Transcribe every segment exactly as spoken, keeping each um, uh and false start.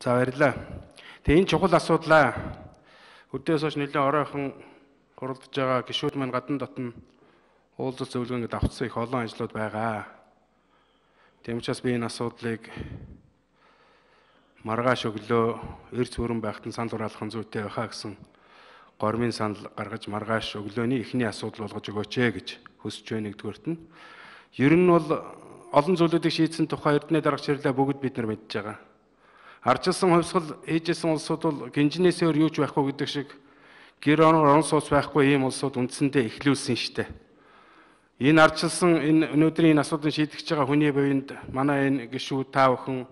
За баярлалаа. Тэгээ энэ чухал асуудлаа өдөөс хойш нэлээд оройхон хуралдаж байгаа гишүүд маань гадна дотн уулзалт зөвлөгөөнд авцсан их олон ажлууд байгаа. Тийм учраас би энэ асуудлыг маргааш өглөө эрс бүрэн байхад нь санал хураалах зүйтэй байхаа гэсэн гормын санал гаргаж маргааш өглөөний эхний асуудал болгож өгөөч ээ гэж хүсэж байна нэгдүгээрт нь. Ер нь бол олон зүйлүүдийг шийдсэн тухай эрдэнэ дарга чирлээ бүгд бид нар мэдж байгаа. Ардчилсан хувьсгал ээжсэн улсууд бол гинжинээс өөр юу ч байхгүй гэдэг шиг гэр орон сууц байхгүй ийм улсууд үндсэндээ эхлүүлсэн штэ. Энэ ардчилсан энэ өнөөдрийн энэ асуудлыг шийдэж байгаа хүний буйнд манай энэ гишүүд та бүхэн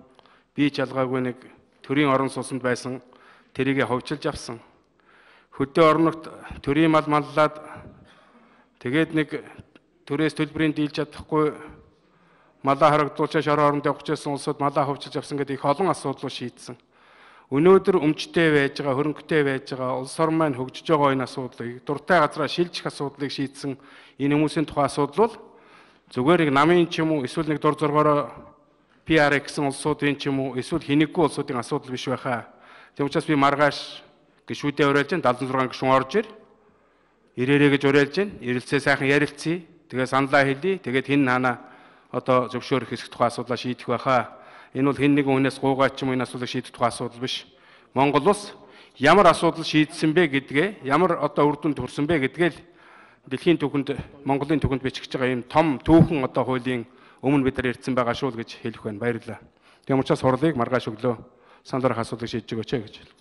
бие чалгаагүй нэг төрийн орон сууцнд байсан тэрийг ховчилж авсан. Хөдөө орногт төрийн мал маллаад тэгээд нэг төрөөс төлбөрийн дийлж чадахгүй малаа харагдуулчаа шороо оронд явж байсан улсууд малаа ховчилж авсан гэдэг их олон асуудлууд шийдсэн. Өнөөдөр өмчтэй байж байгаа, хөрөнгөтэй байж байгаа, улс орн маань хөгжиж байгаа энэ асуудлыг дуртай газараа шилжих асуудлыг шийдсэн энэ хүмүүсийн тухай асуудал бол зүгээр нэг намын ч юм уу эсвэл нэг дур зоргоороо пи ар гэсэн улсуудын ч юм уу эсвэл хинэггүй улсуудын асуудал биш байхаа. Тэгм учраас би маргааш гишүүдэд уриалж байна, дадлан зургаан гишүүн орж ир. Ирээрээ гэж уриалж байна. Ирэлцээ сайхан ярилцъя. Тэгээ саналаа хэлье. Тэгээд хин наана одоо зөвшөөрөх хэсэг тухай асуудлаа шийдэх байхаа. Энэ бол хэн нэгэн хүнээс гуугаад ч юм энэ асуудлыг шийдэх тухай асуудал биш. Монгол улс ямар асуудал шийдсэн бэ гэдгээ, ямар одоо үр дүнд хүрсэн бэ гэдгээ л дэлхийн түвхэнд, Монголын түвхэнд бичиж байгаа ийм том түүхэн одоо хуулийн өмнө бид нар ярьсан байгаа шүү л гэж хэлэх байна. Баярлалаа. Тийм учраас хурлыг маргааш өглөө санал дараах асуудлыг шийдэж өгөөч гэж.